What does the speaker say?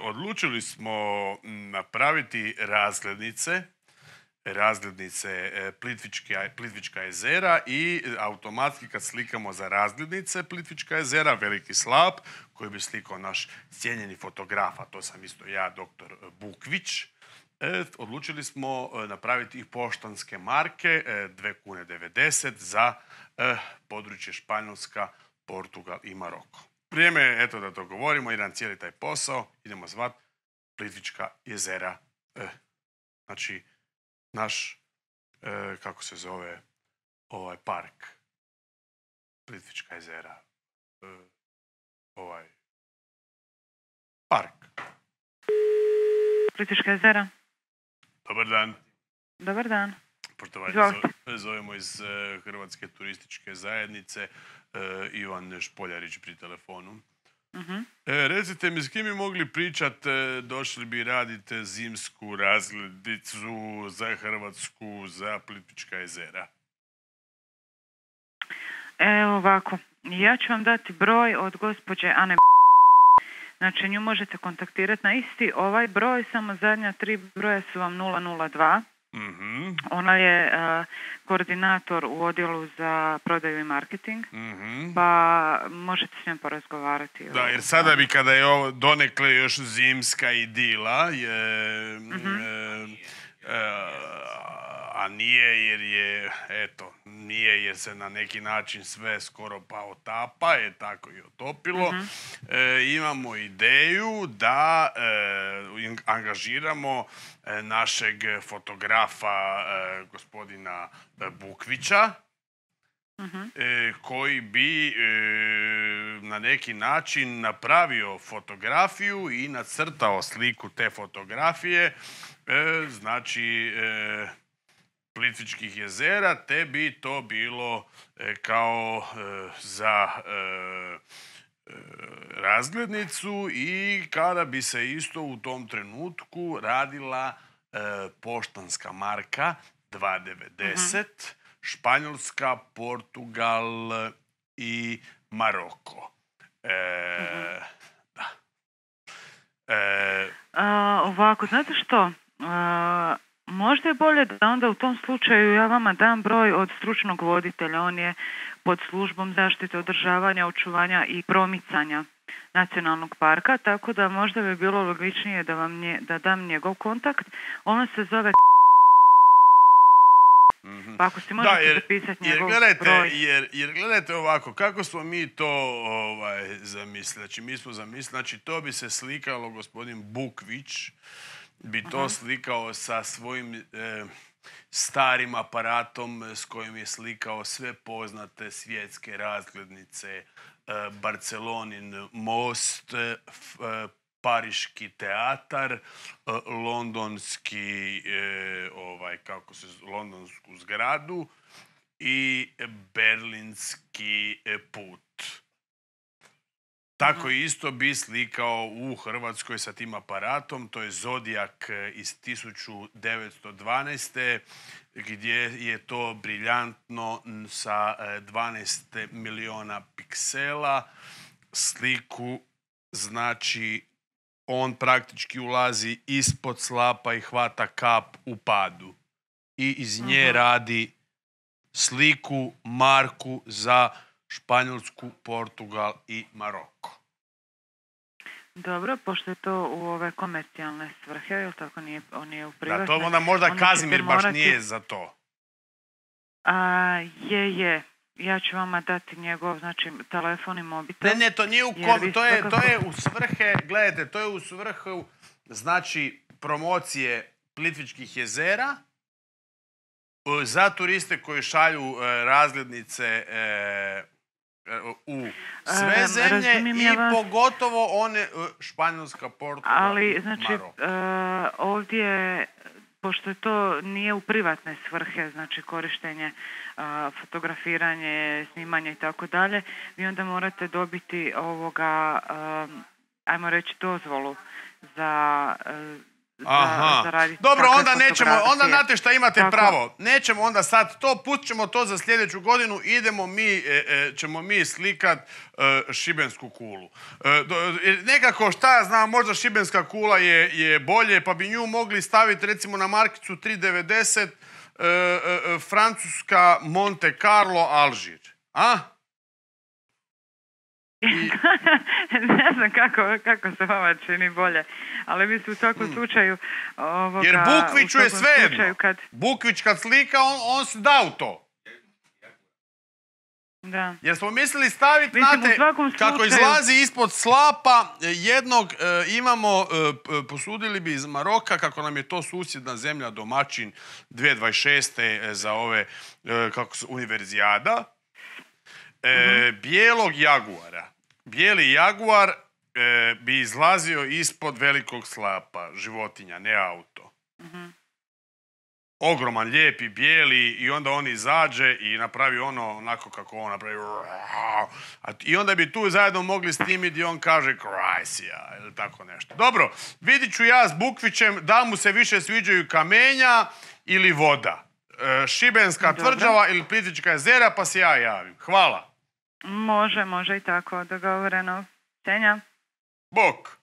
Odlučili smo napraviti razglednice Plitvička jezera i automatski kad slikamo za razglednice Plitvička jezera, veliki slap koji bi slikao naš cijenjeni fotograf, a to sam isto ja, doktor Bukvić, odlučili smo napraviti i poštanske marke 2,90 kune za područje Španjolska, Portugal i Maroko. Vrijeme je, eto, da dogovorimo jedan cijeli taj posao, idemo zvat Plitvička jezera. Znači, naš, kako se zove, ovaj park, Plitvička jezera, ovaj park. Plitvička jezera. Dobar dan. Dobar dan. Poštovanje, zovemo iz Hrvatske turističke zajednice, Ivan Špoljarić pri telefonu. Recite mi, s kim bi mogli pričat, došli bi radite zimsku razglednicu za Hrvatsku, za Plitvička jezera? Evo ovako, ja ću vam dati broj od gospođe Ane. Znači, nju možete kontaktirati na isti ovaj broj, samo zadnja 3 broja su vam 002. Ona je koordinator u odjelu za prodaju i marketing, pa možete s njom porazgovarati. Da, jer sada bi, kada je ovo donekle još zimska idila, a nije jer je, eto, nije jer se na neki način sve skoro pa otapa, je tako i otopilo. Imamo ideju da angažiramo našeg fotografa gospodina Bukvića, koji bi na neki način napravio fotografiju i nacrtao sliku te fotografije, znači Plitvičkih jezera, te bi to bilo kao za razglednicu i kada bi se isto u tom trenutku radila poštanska marka 2,90, Španjolska, Portugal i Maroko. Da. Ovako, znate što? Možda je bolje da onda u tom slučaju ja vama dam broj od stručnog voditelja. On je pod službom zaštite, održavanja, očuvanja i promicanja nacionalnog parka, tako da možda bi bilo logičnije da dam njegov kontakt. On se zove pa ako si možete zapisati njegov broj. Jer gledajte ovako, kako smo mi to zamislili. Znači, mi smo zamislili, znači to bi se slikalo, gospodin Bukvić bi to slikao sa svojim starim aparatom s kojim je slikao sve poznate svjetske razglednice, Barcelonin most, Pariški teatar, londonski, londonsku zgradu i berlinski put. Tako isto bi slikao u Hrvatskoj sa tim aparatom, to je Zodijak iz 1912. gdje je to briljantno sa 12 miliona piksela sliku, znači on praktički ulazi ispod slapa i hvata kap u padu i iz nje radi sliku, marku za Španjolsku, Portugal i Maroko. Dobro, pošto je to u ove komercijalne svrhe, ili tako on nije u privatne. Da, to onda možda Kazimir baš nije za to. Je. Ja ću vama dati njegov, znači, telefon i mobitel. Ne, to nije to je u svrhe, gledajte, to je u svrhu, znači, promocije Plitvičkih jezera, za turiste koji šalju razglednice u sve zemlje i pogotovo one Španjolska, Portugal, ali, znači, ovdje, pošto to nije u privatne svrhe, znači korištenje, fotografiranje, snimanje i tako dalje, vi onda morate dobiti ajmo reći, dozvolu za za raditi. Dobro, onda nećemo, onda fotografije. znate šta imate Tako. pravo. Nećemo onda sad to, pustit ćemo to za sljedeću godinu, ćemo mi slikat šibensku kulu. Nekako, šta ja znam, možda šibenska kula je bolje, pa bi nju mogli staviti recimo na markicu 3,90 Francuska Monte Carlo Alžir. A? Ne znam kako se vama čini bolje, ali vi ste u svakom slučaju Jer Bukviću je svejedno. Bukvić kad slika, on se da u to. Da. Jer smo mislili staviti, Mislim, znate, kako izlazi ispod slapa jednog, posudili bi iz Maroka, kako nam je to susjedna zemlja domaćin 2026. za ove, univerzijada, bijelog jaguara. Bijeli jaguar bi izlazio ispod velikog slapa, životinja, ne auto. Ogroman, lijepi, bijeli, i onda on izađe i napravi onako kako on napravi. I onda bi tu zajedno mogli snimiti i on kaže Krajsija ili tako nešto. Dobro, vidit ću ja s Bukvićem da mu se više sviđaju kamenja ili voda. Šibenska tvrđava ili Plitvička jezera, pa se ja javim. Hvala. Može i tako, dogovoreno. Senja. Bok.